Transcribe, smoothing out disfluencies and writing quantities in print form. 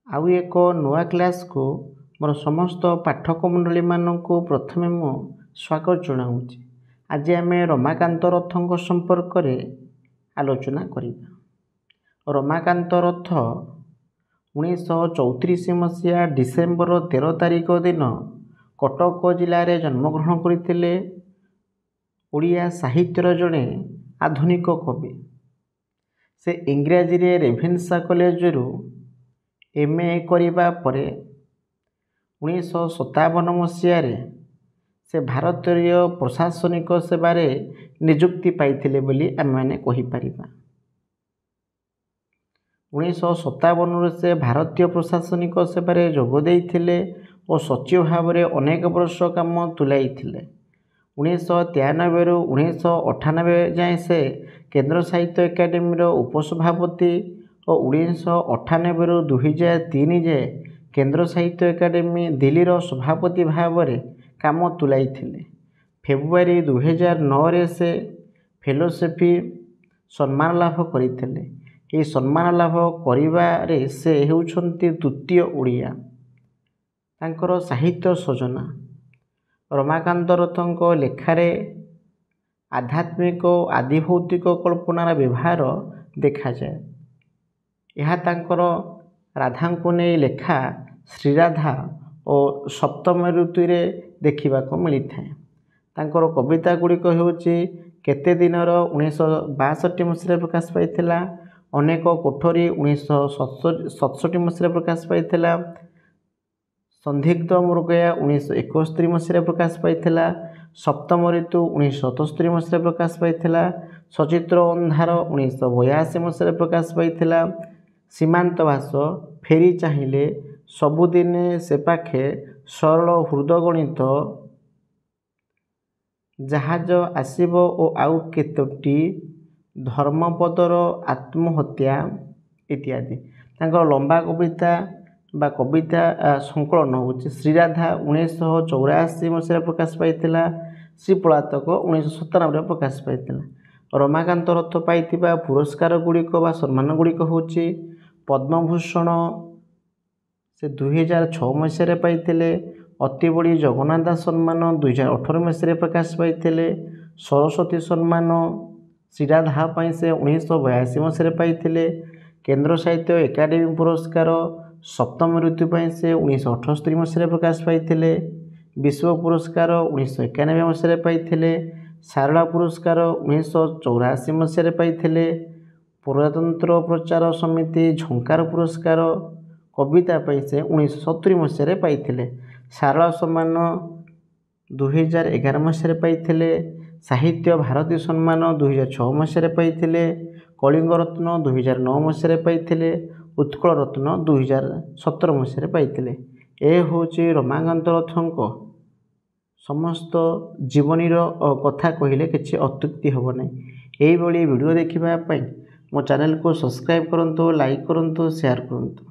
ଆଉ ଏକ ନୂଆ କ୍ଲାସ୍କୁ ମୋର ସମସ୍ତ ପାଠକ ମଣ୍ଡଳୀମାନଙ୍କୁ ପ୍ରଥମେ ମୁଁ ସ୍ୱାଗତ ଜଣାଉଛି। ଆଜି ଆମେ ରମାକାନ୍ତ ରଥଙ୍କ ସମ୍ପର୍କରେ ଆଲୋଚନା କରିବା। ରମାକାନ୍ତ ରଥ 1934 ମସିହା ଡିସେମ୍ବର 13 ତାରିଖ ଦିନ କଟକ ଜିଲ୍ଲାରେ ଜନ୍ମଗ୍ରହଣ କରିଥିଲେ। ଓଡ଼ିଆ ସାହିତ୍ୟର ଜଣେ ଆଧୁନିକ କବି। ସେ ଇଂରାଜୀରେ ରେଭେନ୍ସା କଲେଜରୁ ଏମ୍ ଏ କରିବା ପରେ 1957 ମସିହାରେ ସେ ଭାରତୀୟ ପ୍ରଶାସନିକ ସେବାରେ ନିଯୁକ୍ତି ପାଇଥିଲେ ବୋଲି ଆମେମାନେ କହିପାରିବା। 1957ରୁ ସେ ଭାରତୀୟ ପ୍ରଶାସନିକ ସେବାରେ ଯୋଗ ଦେଇଥିଲେ ଓ ସଚିବ ଭାବରେ ଅନେକ ବର୍ଷ କାମ ତୁଲାଇଥିଲେ। 1993ରୁ 1998 ଯାଏଁ ସେ କେନ୍ଦ୍ର ସାହିତ୍ୟ ଏକାଡେମୀର ଉପସଭାପତି ଓ 1998ରୁ 2003 ଯାଏ କେନ୍ଦ୍ର ସାହିତ୍ୟ ଏକାଡେମୀ ଦିଲ୍ଲୀର ସଭାପତି ଭାବରେ କାମ ତୁଲାଇଥିଲେ। ଫେବୃଆରୀ 2009ରେ ସେ ଫେଲୋସିପ୍ ସମ୍ମାନ ଲାଭ କରିଥିଲେ। ଏହି ସମ୍ମାନ ଲାଭ କରିବାରେ ସେ ହେଉଛନ୍ତି ଦ୍ୱିତୀୟ ଓଡ଼ିଆ। ତାଙ୍କର ସାହିତ୍ୟ ସର୍ଜନା, ରମାକାନ୍ତ ରଥଙ୍କ ଲେଖାରେ ଆଧ୍ୟାତ୍ମିକ ଓ ଆଧିଭୌତିକ କଳ୍ପନାର ବ୍ୟବହାର ଦେଖାଯାଏ। ଏହା ତାଙ୍କର ରାଧାଙ୍କୁ ନେଇ ଲେଖା ଶ୍ରୀରାଧା ଓ ସପ୍ତମ ଋତୁରେ ଦେଖିବାକୁ ମିଳିଥାଏ। ତାଙ୍କର କବିତା ଗୁଡ଼ିକ ହେଉଛି କେତେ ଦିନର 1962 ମସିହାରେ ପ୍ରକାଶ ପାଇଥିଲା, ଅନେକ କୋଠରୀ 1967 ମସିହାରେ ପ୍ରକାଶ ପାଇଥିଲା, ସନ୍ଦିଗ୍ଧ ମୃଗୟା 1971 ମସିହାରେ ପ୍ରକାଶ ପାଇଥିଲା, ସପ୍ତମ ଋତୁ 1977 ମସିହାରେ ପ୍ରକାଶ ପାଇଥିଲା, ସଚିତ୍ର ଅନ୍ଧାର 1982 ମସିହାରେ ପ୍ରକାଶ ପାଇଥିଲା, ସୀମାନ୍ତବାସ, ଫେରି ଚାହିଁଲେ, ସବୁଦିନେ ସେ ପାଖେ, ସରଳ ହୃଦଗଣିତ, ଜାହାଜ ଆସିବ ଓ ଆଉ କେତୋଟି, ଧର୍ମପଦର ଆତ୍ମହତ୍ୟା ଇତ୍ୟାଦି। ତାଙ୍କର ଲମ୍ବା କବିତା ବା କବିତା ସଂକଳନ ହେଉଛି ଶ୍ରୀରାଧା 1984 ମସିହାରେ ପ୍ରକାଶ ପାଇଥିଲା, ଶ୍ରୀ ପଳାତକ 1997ରେ ପ୍ରକାଶ ପାଇଥିଲା। ରମାକାନ୍ତ ରଥ ପାଇଥିବା ପୁରସ୍କାର ଗୁଡ଼ିକ ବା ସମ୍ମାନ ଗୁଡ଼ିକ ହେଉଛି ପଦ୍ମଭୂଷଣ ସେ 2006 ମସିହାରେ ପାଇଥିଲେ, ଅତିବଡ଼ି ଜଗନ୍ନାଥ ଦାସ ସମ୍ମାନ 2018 ମସିହାରେ ପ୍ରକାଶ ପାଇଥିଲେ, ସରସ୍ୱତୀ ସମ୍ମାନ ଶ୍ରୀରାଧା ପାଇଁ ସେ 1982 ମସିହାରେ ପାଇଥିଲେ, କେନ୍ଦ୍ର ସାହିତ୍ୟ ଏକାଡେମୀ ପୁରସ୍କାର ସପ୍ତମ ଋତୁ ପାଇଁ ସେ 1978 ମସିହାରେ ପ୍ରକାଶ ପାଇଥିଲେ, ବିଶ୍ୱ ପୁରସ୍କାର 1991 ମସିହାରେ ପାଇଥିଲେ, ସାରଳା ପୁରସ୍କାର 1984 ମସିହାରେ ପାଇଥିଲେ, ପ୍ରଜାତନ୍ତ୍ର ପ୍ରଚାର ସମିତି ଝଙ୍କାର ପୁରସ୍କାର କବିତା ପାଇଁ ସେ 1970 ମସିହାରେ ପାଇଥିଲେ, ସାରଳା ସମ୍ମାନ 2011 ମସିହାରେ ପାଇଥିଲେ, ସାହିତ୍ୟ ଭାରତୀ ସମ୍ମାନ 2006 ମସିହାରେ ପାଇଥିଲେ, କଳିଙ୍ଗ ରତ୍ନ 2009 ମସିହାରେ ପାଇଥିଲେ, ଉତ୍କଳ ରତ୍ନ 2017 ମସିହାରେ ପାଇଥିଲେ। ଏ ହେଉଛି ରମାକାନ୍ତ ରଥଙ୍କ ସମସ୍ତ ଜୀବନୀର କଥା କହିଲେ କିଛି ଅତ୍ୟୁକ୍ତି ହେବ ନାହିଁ। ଏଇଭଳି ଭିଡ଼ିଓ ଦେଖିବା ପାଇଁ ମୋ ଚ୍ୟାନେଲକୁ ସବସ୍କ୍ରାଇବ୍ କରନ୍ତୁ, ଲାଇକ୍ କରନ୍ତୁ, ସେୟାର କରନ୍ତୁ।